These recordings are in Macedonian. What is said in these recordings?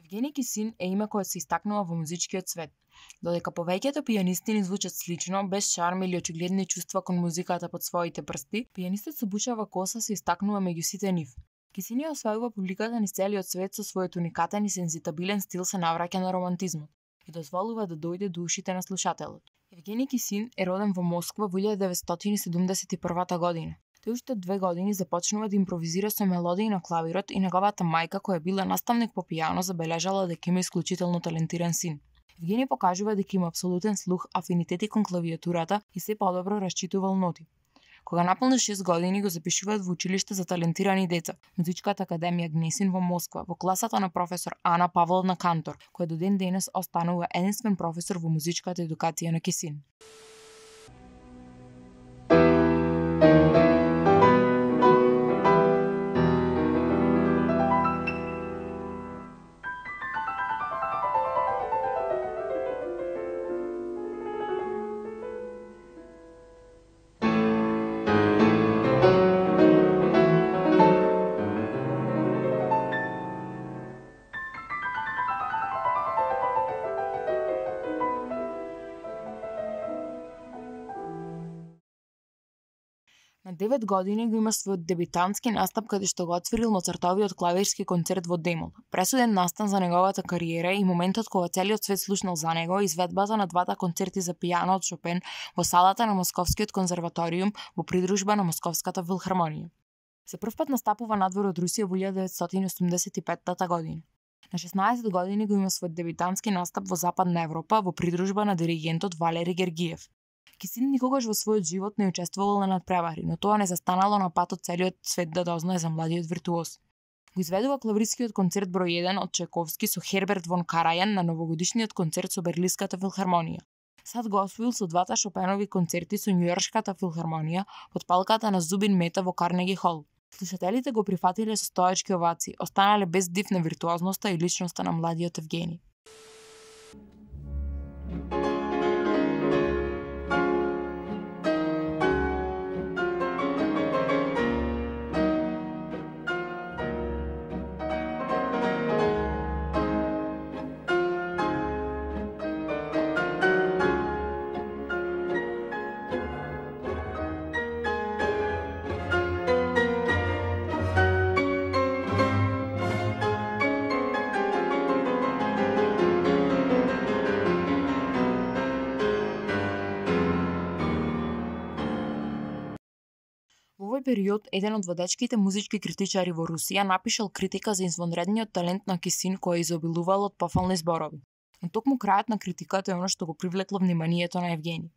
Евгени Кисин е име кое се истакнува во музичкиот свет. Додека повеќето пијанисти ни звучат слично, без шарм или очигледни чувства кон музиката под своите прсти, пијанистот со бучава коса се истакнува меѓу сите нив. Кисин ја освојува публиката низ целиот свет со својот уникатен и сензитабилен стил се навраќа на романтизмот и дозволува да дојде до ушите на слушателот. Евгени Кисин е роден во Москва во 1971 година. Тој уште 2 години започнува да импровизира со мелодии на клавирот и неговата мајка, која била наставник по пијано, забележала дека има исклучително талентиран син. Евгени покажува дека има апсолутен слух, афинитети кон клавиатурата и се подобро расчитувал ноти. Кога наполни 6 години го запишуваат во училиште за талентирани деца, Музичката академија Гнесин во Москва, во класата на професор Ана Павловна Кантор, која до ден денес останува единствен професор во музичката едукација на Кисин. На 9 години го има својот дебитантски настап каде што го отворил Моцартовиот клавирски концерт во Демол. Пресуден настан за неговата кариера и моментот кога целиот свет слушнал за него, изведбата на двата концерти за пијано од Шопен во салата на Московскиот конзерваториум во придружба на Московската филхармонија. За прв пат настапува надвор од Русија во 1985 година. На 16 години го има својот дебитантски настап во Западна Европа во придружба на диригентот Валери Гергиев. Кисин никогаш во својот живот не учествувал на надпревари, но тоа не застанало на патот целиот свет да дознае за младиот виртуоз. Го изведува клавирскиот концерт број 1 од Чајковски со Херберт фон Карајан на новогодишниот концерт со Берлинската филхармонија. Сад го освоил со двата Шопенови концерти со Њујоршката филхармонија под палката на Зубин Мета во Карнеги хол. Слушателите го прифатиле со стоечки овации, останале без див на виртуозноста и личноста на младиот Евгени. Во овој период, еден од водечките музички критичари во Русија напишал критика за извонредниот талент на Кисин кој изобилувал од пофални зборови. Но токму крајот на критиката е оно што го привлекло вниманието на Евгени.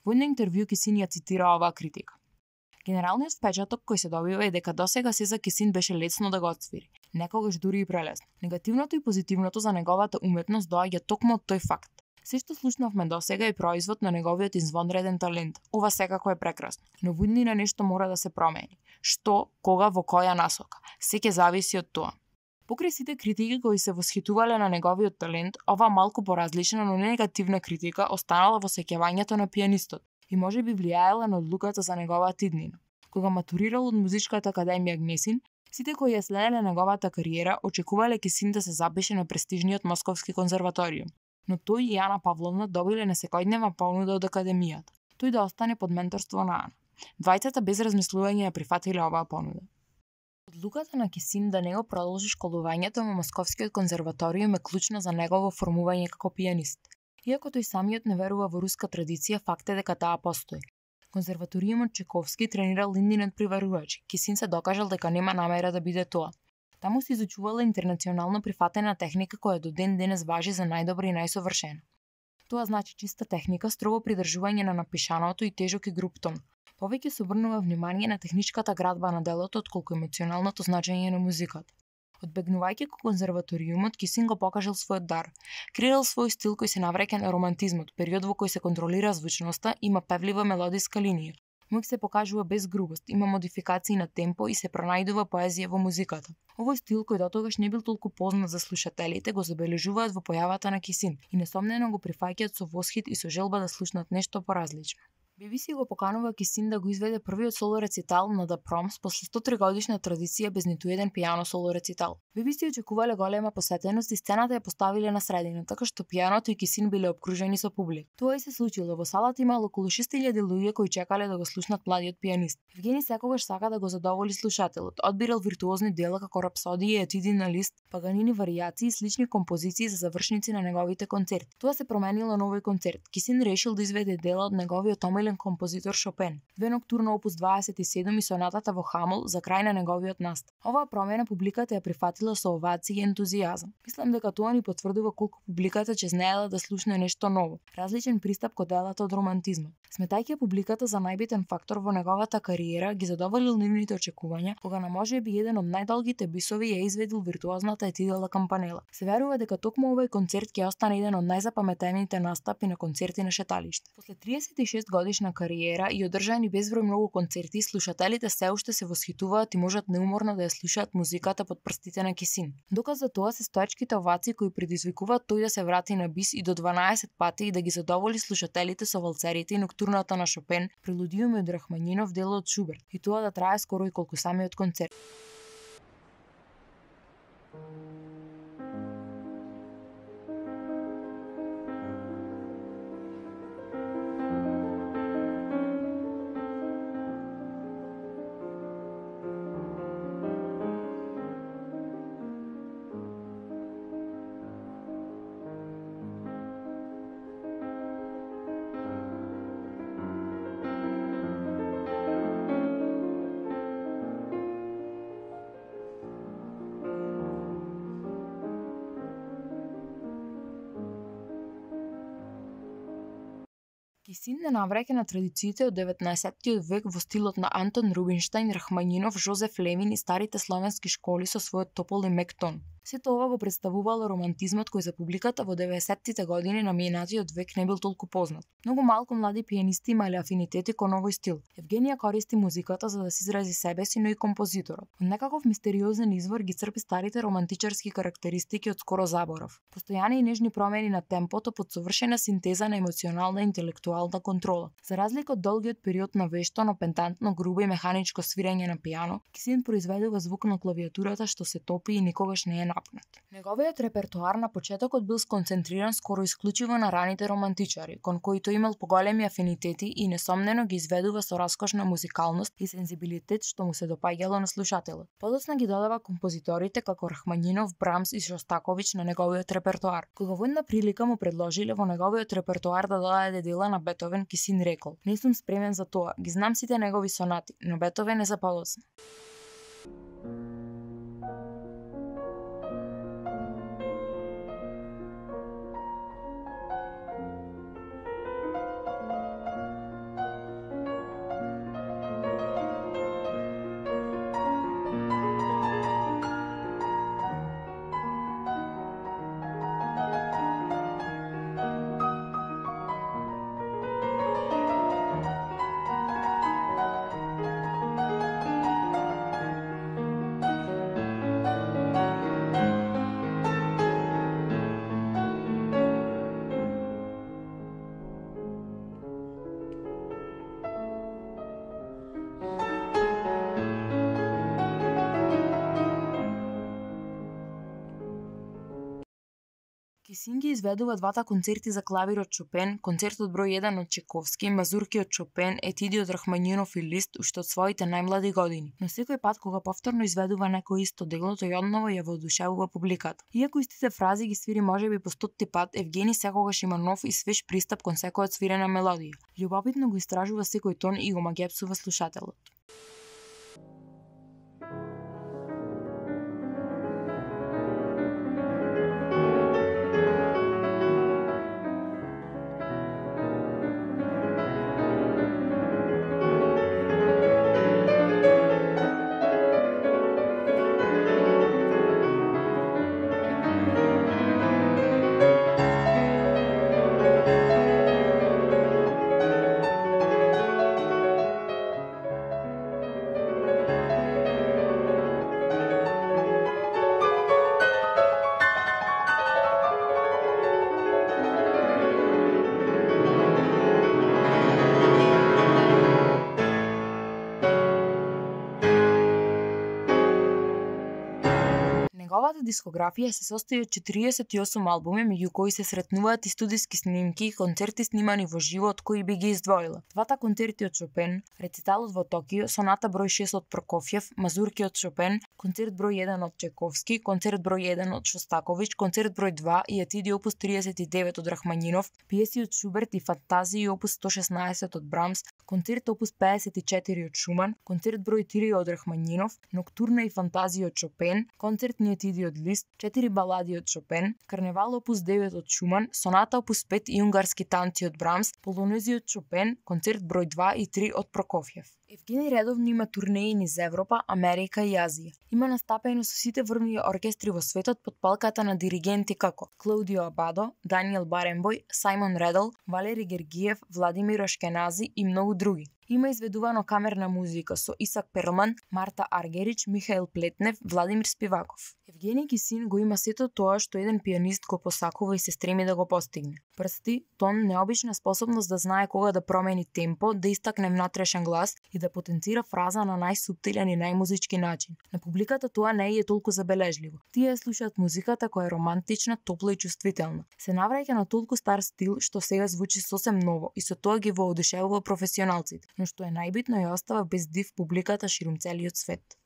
Во едно интервју Кисин ја цитира оваа критика. Генералниот впечаток кој се добива е дека досега се за Кисин беше лесно да го отсвири, некогаш дури и прелесно. Негативното и позитивното за неговата уметност доаѓа токму од тој факт. Се што слушнавме досега е производ на неговиот извонреден талент. Ова секако е прекрасно, но во иднина нешто мора да се промени. Што, кога, во која насока? Се ќе зависи од тоа. Покрај сите критики кои се восхитувале на неговиот талент, ова малку поразлична, но негативна критика останала во сеќавањето на пијанистот и можеби влијаела на одлуката за неговата иднина. Кога матурирал од Музичката академија Гнесин, сите кои ја следеле неговата кариера очекувале Кисин да се запише на престижниот Московски конзерваториум. Но тој и Ана Павловна добиле несекојдневна понуда од академијата. Тој да остане под менторство на Ана. Двајцата без размислување ја прифатиле оваа понуда. Одлуката на Кисин да не го продолжи школувањето во Московскиот конзерваториум е клучна за негово формување како пијанист. Иако тој самиот не верува во руска традиција, факт е дека таа постои. Конзерваториумот Чајковски тренирал индинот приварувачи. Кисин се докажал дека нема намера да биде тоа. Таму се изучувала интернационално прифатена техника која до ден денес важи за најдобра и најсовршена. Тоа значи чиста техника, строго придржување на напишаното и тежок и груб тон. Повеќе се обрнува внимание на техничката градба на делото отколку емоционалното значење на музиката. Одбегнувајќи кон конзерваториумот, Кисин го покажал својот дар. Креирал свој стил кој се навраќа на романтизмот, период во кој се контролира звучноста, има певлива мелодиска линија. Мук се покажува без грубост, има модификации на темпо и се пронајдува поезија во музиката. Овој стил кој дотогаш не бил толку познат за слушателите го забележуваат во појавата на Кисин и несомнено го прифаќаат со восхит и со желба да слушнат нешто поразлично. BBC го поканува Кисин да го изведе првиот соло рецитал на The Proms после 103 годишна традиција без ниту еден пијано соло рецитал. BBC очекувале голема посетеност и сцената ја поставиле на средина, така што пијаното и Кисин биле обкружени со публика. Тоа и се случило. Во салата имало околу 6000 луѓе кои чекале да го слушнат младиот пијанист. Евгени секогаш сака да го задоволи слушателот. Одбирал виртуозни дела како рапсодии, етиди на лист, паганини варијации и слични композиции за завршници на неговите концерти. Тоа се променило на овој концерт. Кисин решил да изведе дела од неговиот омилен композитор Шопен, две ноктурна опус 27 и сонатата во Хамол за крај на неговиот настап. Оваа промена публиката ја прифатила со овации и ентузијазам. Мислам дека тоа ни потврдува колку публиката чезнеела да слушне нешто ново, различен пристап кон делата од романтизма. Сметајќи публиката за најбитен фактор во неговата кариера, ги задоволил нивните очекувања, кога на можеби еден од најдолгите бисови ја изведил виртуозната етидела кампанела. Се верува дека токму овој концерт ќе остане еден од најзапаметените настапи на концерти на шеталиште. После 36 годишна кариера и одржани безброј многу концерти, слушателите се уште се восхитуваат и можат неуморно да ја слушаат музиката под прстите на Кисин. Доказ за тоа се стоечките овации кои предизвикуваат тој да се врати на бис и до 12 пати и да ги задоволи слушателите со валцерите и ноктурната на Шопен, прелудиуми од Рахманинов, дело од Шуберт, и тоа да трае скоро и колку самиот концерт. Кисин не навраќа на традициите од 19-тиот век во стилот на Антон Рубинштајн, Рахманинов, Жозеф Левин и старите словенски школи со својот топол и мек тон. Сето ова го представувало романтизмот кој за публиката во 90-тите години на минатиот век не бил толку познат. Многу малку млади пијанисти имале афинитети кон овој стил. Евгенија користи музиката за да се изрази себе си, но и композиторот. Од некаков мистериозен извор ги црпи старите романтичарски карактеристики од скоро заборав. Постојани и нежни промени на темпото под совршена синтеза на емоционална и интелектуална контрола. За разлика од долгиот период на вешто, но пентантно, грубо и механичко свирење на пијано, Кисин произведува звук на клавиатурата што се топи и никогаш не е напнат. Неговиот репертоар на почетокот бил сконцентриран скоро исклучиво на раните романтичари, кон кои тој имал поголеми афинитети и несомнено ги изведува со раскошна музикалност и сензибилитет што му се допаѓало на слушателот. Подоцна ги додава композиторите како Рахманинов, Брамс и Шостакович на неговиот репертоар. Кога во една прилика му предложиле во неговиот репертоар да додаде дела на Бетовен, Кисин рекол: "Не сум спремен за тоа, ги знам сите негови сонати, но Бетовен е за подоцна." Кисин ги изведува двата концерти за клавир од Шопен, концертот број 1 од Чековски, мазурки од Шопен, етиди од Рахманинов и Лист уште од своите најмлади години. Но секој пат кога повторно изведува некој исто дело, тој одново ја воодушевува публиката. Иако истите фрази ги свири можеби по 100-ти пат, Евгени секогаш има нов и свеж пристап кон секоја свирена мелодија. Љубовитно го истражува секој тон и го магепсува слушателот. Неговата дискографија се состои од 48 албуми, меѓу кои се сретнуваат и студиски снимки и концерти снимани во живо, од кои би ги издвоила. Двата концерти од Шопен, рециталот во Токио, соната број 6 од Прокофјев, мазурки од Шопен, концерт број 1 од Чајковски, концерт број 1 од Шостакович, концерт број 2 и етиди опус 39 од Рахманинов, пиеси од Шуберт и фантазии опус 116 од Брамс, концерт опус 54 од Шуман, концерт број 3 од Рахманинов, ноктурна и фантазии од Шопен, концертни етиди од Лист, 4 балади од Шопен, карневал опус 9 од Шуман, соната опус 5 и унгарски танци од Брамс, полонези од Шопен, концерт број 2 и 3 од Прокофјев. Евгени редовно има турнеи низ Европа, Америка и Азија. Има настапаено со сите врвни оркестри во светот под палката на диригенти како Клаудио Абадо, Даниел Баренбој, Сајмон Редл, Валери Гергиев, Владимир Ашкенази и многу други. Има изведувано камерна музика со Исак Перлман, Марта Аргерич, Михаил Плетнев, Владимир Спиваков. Евгений Кисин го има сето тоа што еден пианист го посакува и се стреми да го постигне. Прсти, тон, необична способност да знае кога да промени темпо, да истакне внатрешен глас и да потенцира фраза на најсуптилен и најмузички начин. На публиката тоа не е толку забележливо. Тие слушаат музиката која е романтична, топла и чувствителна. Се навраќа на толку стар стил што сега звучи сосем ново и со тоа ги воодушевува професионалците, но што е најбитно ја остава без див публиката ширум целиот свет.